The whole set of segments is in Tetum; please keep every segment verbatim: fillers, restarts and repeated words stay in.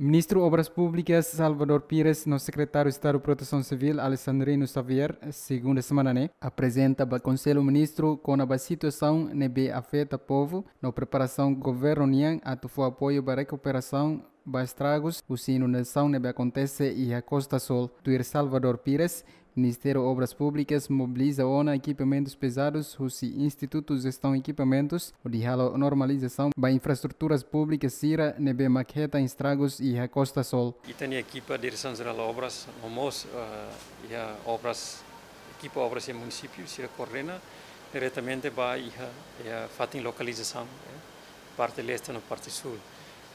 Ministru Obras Públikas Salvador Pires no Sekretáriu Estadu Protesaun Sivíl Alexandrino Xavier, segunda semana ne'e, aprezenta ba Konsellu Ministru kona-ba situasaun ne'ebé afeta povu no preparasaun governu nian atu fó apoiu ba rekuperasaun ba estragus husi inundasaun ne'ebé akontese iha Costa Sul. Tuir Salvador Pires, Ministériu Obras Públikas mobiliza ona ekipamentus pezadus husi Institutu Jestaun Ekipamentus hodi halo normalizasaun ba infraestruturas públikas sira ne'ebé mak hetan estragus iha Costa Sul. Ita-nia ekipa Diresaun Jerál Obras, no mós, eh, iha obras, ekipa obras iha munisípiu sira koordena diretamente ba iha, iha fatin lokalizasaun, eh, parte leste no parte súl.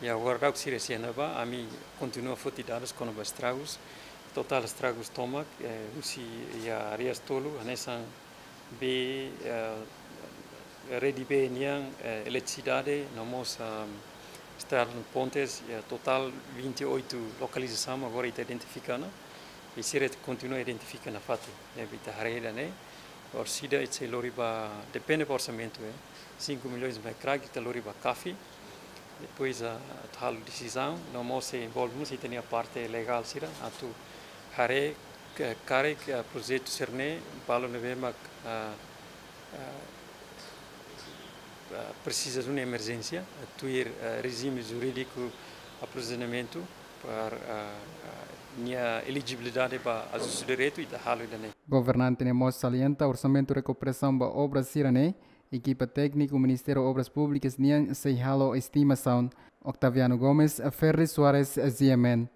I agora daudaun sira sei iha ne'ebá, ami kontinua foti dadus kona-ba estragus, totál estragus tomak, eh, husi iha áreas tolu, hanesan bee, eh, rede bee nian, eh, eletrisidade, no mós, ah, estrada no pontes, eh, totál vinte e oito lokalizasaun agora ita identifika ona, i sira kontinua identifika nafatin, eh, ita haree ida-ne'e, orsida ita sei lori ba, depende ba orsamentu, eh, cinco milhões ba kraik, ita lori ba CAFI, depois, ah, atu halo desizaun, no mós sei envolve mós ita-nia parte legál sira, atu haree, eh, karik, eh, projetu sira-ne'e, balu ne'ebé mak, ah, ah, ah, presiza duni emerjénsia, eh, tuir, eh, rejime jurídiku aprovizionamentu para, ah, ah, nia elejibilidade ba ajustu diretu ita halo ida-ne'e. Governante ne'e mós salienta orsamentu rekuperasaun ba obra sira-ne'e, ekipa tékniku Ministériu Obras Públikas nian sei halo estimasaun. Octaviano Gomes, Ferri Soares, G M N.